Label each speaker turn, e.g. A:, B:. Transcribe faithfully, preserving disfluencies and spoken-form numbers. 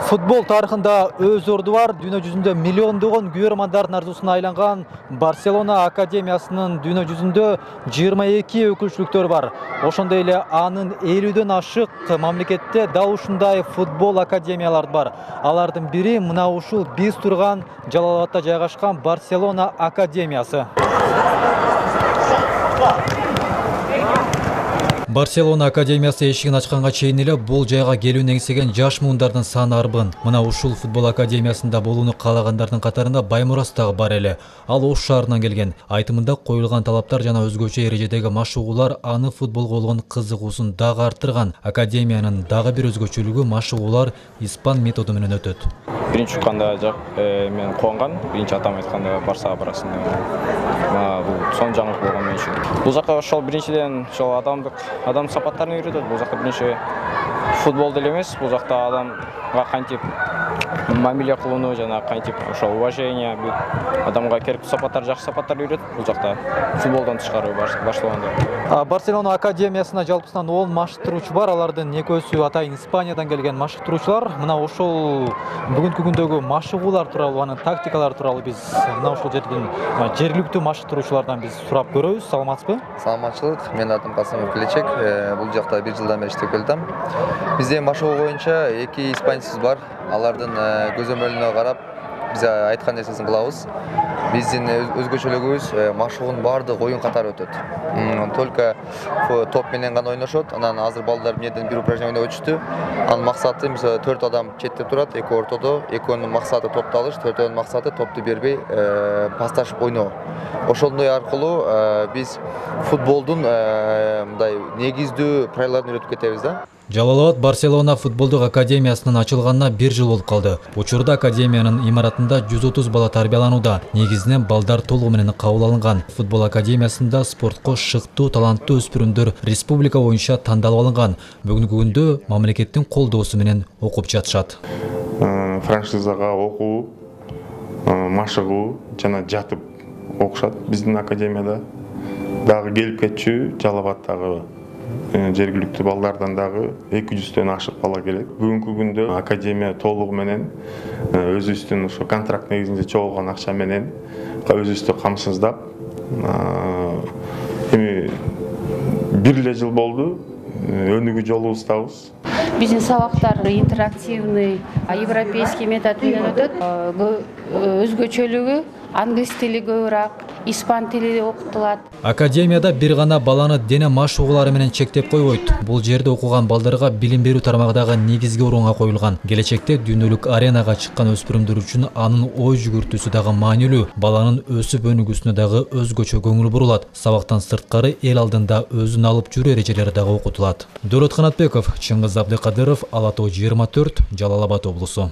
A: Футбол тарыхында өз орду бар, дүйнө жүзүндө миллиондогон көрөрмандардын арзусуна айланган Барселона академиясынын дүйнө жүзүндө жыйырма эки өкүлчүлүктөр бар. Ошондой эле анын элүүдөн ашык мамлекетте дал ушундай футбол академиялар бар. Алардын бири мына ушул биз турган Жалал-Абадта жайгашкан Барселона академиясы. Барселона академиясы эшигин ачканга чейин эле бул жайга келүүнү эңсеген жаш муундардын саны арбын. Мына ушул футбол академиясында болууну каалагандардын катарында Баймурас дагы бар эле. Ал Ош шаарынан келген. Айтымында коюлган талаптар жана өзгөчө эрежедеги машыгуулар аны футболго болгон кызыгуусун дагы арттырган. Академиянын дагы бир өзгөчөлүгү машыгуулар испан методу менен өтөт.
B: Биринчи укканда мен кубанган, биринчи атам айтканда Барсага барасың деп. Бул сон жаңылык болгон мен үчүн. Бул жака ошол биринчиден ошол адамдык адам сапаттарын үйрөтөт. Бул жакта биринчи футбол деле эмес, бул жакта адамга кантип мамиле кылууну жана кантип ошол уважение, адамга керектүү сапаттар, жакшы сапаттар үйрөтөт. Бул жакта футболдон тышкары башталганда.
A: Барселона академиясына жалпысынан он машыктыруучу бар. Алардын экөөсү атайын Испаниядан келген машыктыруучулар. Мына ошол бүгүнкү күндөгү машыгуулар тууралуу, анын тактикалары тууралуу биз мына ушул жердин жергиликтүү машыктыруучулардан биз сурап көрөбүз. Саламатсызбы?
C: Саламатчылык. Менин атым Касымов Келечек. Бул жакта бир жылдан бери иштеп келдим. Бизде машыгуу боюнча эки испанецибиз бар. Алардын көзөмөлүнө карап биз айткан нерсесин кылабыз. Биздин өзгөчөлүгүбүз машыгуунун баардык оюн катары өтөт. Только топ менен гана ойношот. Анан азыр балдар эмнеден бир упражнение ойноп өтүштү. Анын максаты мисалы төрт адам четте турат, эки ортодо, экөөнүн максаты топту алыш, төртөөнүн максаты топту бербей пасташып ойноо. Ошондой аркылуу биз футболдун мындай негиздүү правилаларын үйрөтүп кетебиз да.
A: Жалал-Абад Барселона футболдук академиясынын ачылганына бир жыл болуп калды. Учурда академиянын имаратында жүз отуз бала тарбияланууда. Негизинен балдар толугу менен кабыл алынган. Футбол академиясында спортко шыктуу, таланттуу өспүрүмдөр республика боюнча тандалып алынган. Бүгүнкү күндө мамлекеттин колдоосу менен окуп жатышат.
D: Франшизага окуу, машыгуу жана жатып окушат. Биздин академияда дагы келип кетчү Жалал-Абадтагы жергиликтүү балдардан дагы эки жүздөн ашык бала келет. Бүгүнкү күндө академия толугу менен өзүбүздүн ошо контракт негизинде чогулган акча менен өзүбүздү камсыздап, эми бир эле жыл болду, өнүгүү жолубуздабыз.
E: Биздин сабактар интерактивный, европейский метод менен өтөт. Өзгөчөлүгү англис тили көбүрөөк, испан тили окутулат.
A: Академияда бир гана баланы дене машыгуулары менен чектеп койбойт. Бул жерде окуган балдарга билим берүү тармагы дагы негизги орунга коюлган. Келечекте дүйнөлүк аренага чыккан өспүрүмдөр үчүн анын ой жүгүртүүсү дагы маанилүү. Баланын өсүп өнүгүүсүнө дагы өзгөчө көңүл бурулат. Сабактан сырткары эл алдында өзүн алып жүрүү эрежелери дагы окутулат. Дөлөт Канатбеков, Чыңгыз Абдыкадыров, Ала тоо жыйырма төрт, Жалал-Абад облусу.